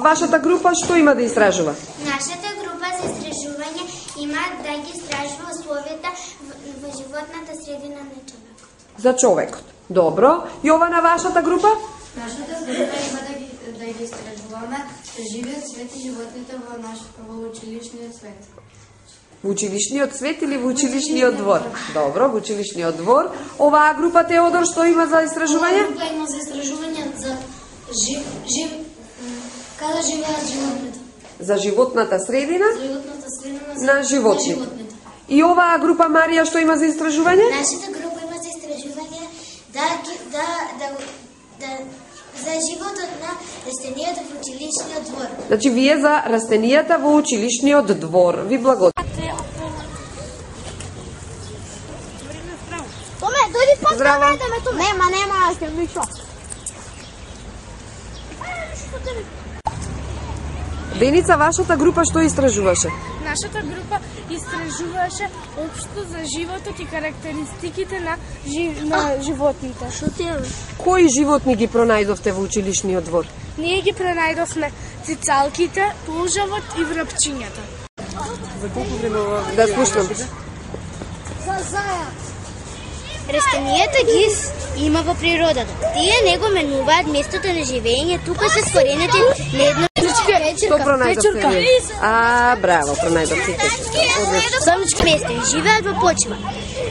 Вашата група што има да истражува? Нашата група за истражување има да ги истражува условията во животната средина на човекот. За човекот. Добро. Јована, вашата група? Нашата група има да ги истражуваме живиот свет и животните во училишниот свет. Во училишниот свет или во училишниот двор? Добро, во училишниот двор. Оваа група, Теодор, што има за истражување? Оваа група има за истражување за каде живеат животните. За животната средина? За животната средина на животните. И оваа група, Марија, што има за истражување? Нашата група има за истражување за животот на растенијата во училишниот двор. Значи, вие за растенијата во училишниот двор. Ви благодарам. Томе, дојди по Здраво. Нема, аз ќе мишо. Деница, вашата група што истражуваше? Нашата група истражуваше општо за животот и карактеристиките на животните. Што ти е? Кои животни ги пронајдовте во училишниот двор? Ние ги пронајдовме цицалките, полжавот и врапчињата. За колку време да слушам? Растенијата ги има во природата. Тие не го менуваат местото на живење, тука се скоренети на едно Што пронајдовте вие? Браво, пронајдовте печурка. Сонечко место и живеат во почва.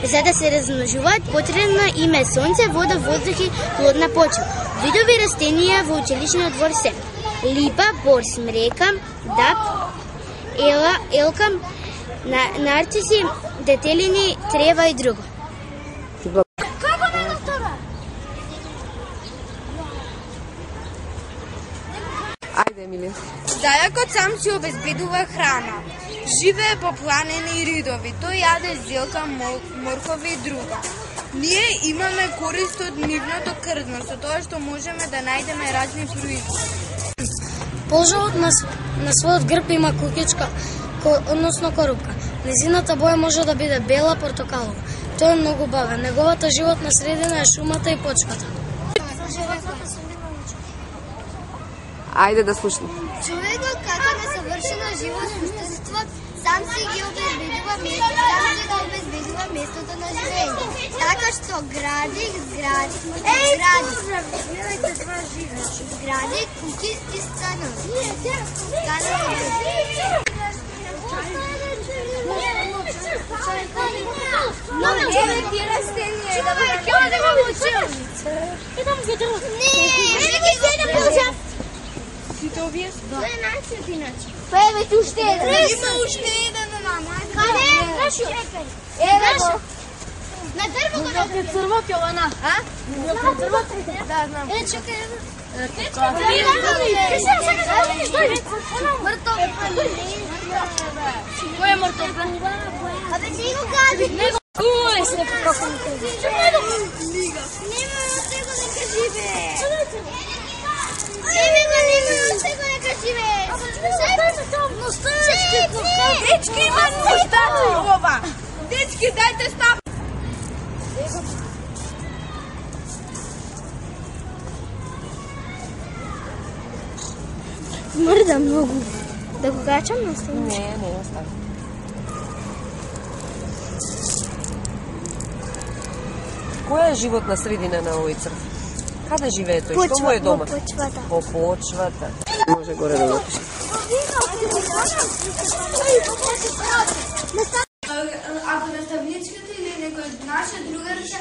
За да се размножуваат потребно им е сонце, вода, воздух и плодна почва. Видови растенија во училишниот двор се липа, бор, смрека, даб, елка, нарциси, детелини, трева и друго. Ајде, Емилија. Зајакот сам си обезбедува храна. Живее по планини и ридови. Тој јаде зелка, моркови и друго. Ние имаме корист од нивното крдно, со тоа што можеме да најдеме разни производи. Полжавот на својот грб има кукичка, односно корупка. Незината боја може да биде бела, портокалова. Тој е многу бавен. Неговата животна средина е шумата и почвата. Ајде да слушам. Човекот како несовршено живо суштество сам си ги обезбедува местото на живење. Така што гради куки и станови. Сите овие? Тоа е начин иначе. Па еве ти уште еден. Има уште еден на мај. Каде е? Еве го. На дрво го Е црвот Јована, а? Црвот? Да, знам. чекај. Мртов. Кој е мртов? Абе не го кажи. Уј, се како ми кажи. Нема него нека живе. Него нека живе. Дечки, има мустаци ова. Дечки, дајте стап. Мрда многу. Да го гачам на стол? Не остави. Која е животна средина на овој црв? Каде живее тој? Што му е дома? По почвата. По почвата. Може горе да напишеш. Ако наставничката или некој наша другарка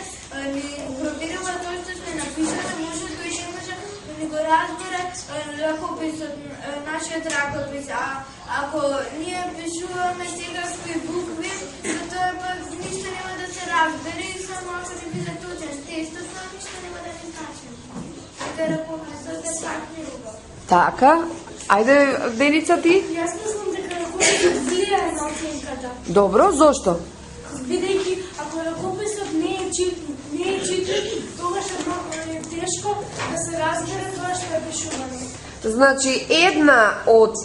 ни проверува тоа што сме напишале, може тој ќе може да ни го разбере ракописот, нашиот ракопис. А ако ние пишуваме секакви букви, тоа пак ништо нема да се разбере и само ако не биде точен текстот, тоа ништо нема да ни значи. Така ракописот е так неубав. Така, ајде, Деница, ти? Јас мислам дека ракописот влијае на оценката. Добро, зошто? Бидејќи ако ракописот не е читан, тогаш е многу тешко да се разбере тоа што е пишувано. Значи, една од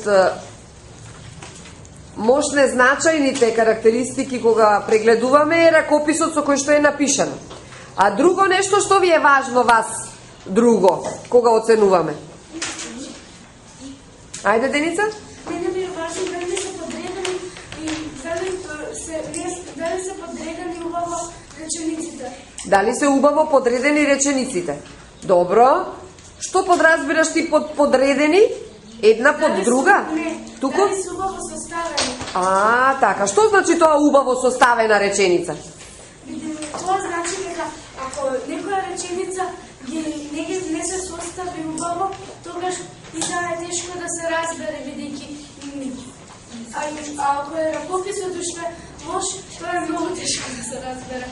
Можне значајните карактеристики кога прегледуваме е ракописот со кој што е напишано. А друго нешто што ви е важно вас, друго, кога оценуваме? Ајде, Деница? Мене ми е важно дали се подредени и дали се подредени убаво речениците. Дали се убаво подредени речениците? Добро. Што подразбираш ти под подредени? Една под друга? Не, Туку? дали се убаво составени. Така. Што значи тоа убаво составена реченица? Тоа значи дека ако некоја реченица не се состави убаво, тогаш и таа е тешко да се разбере, бидејќи ако е ракописот уште може, тоа е многу тешко да се разбере.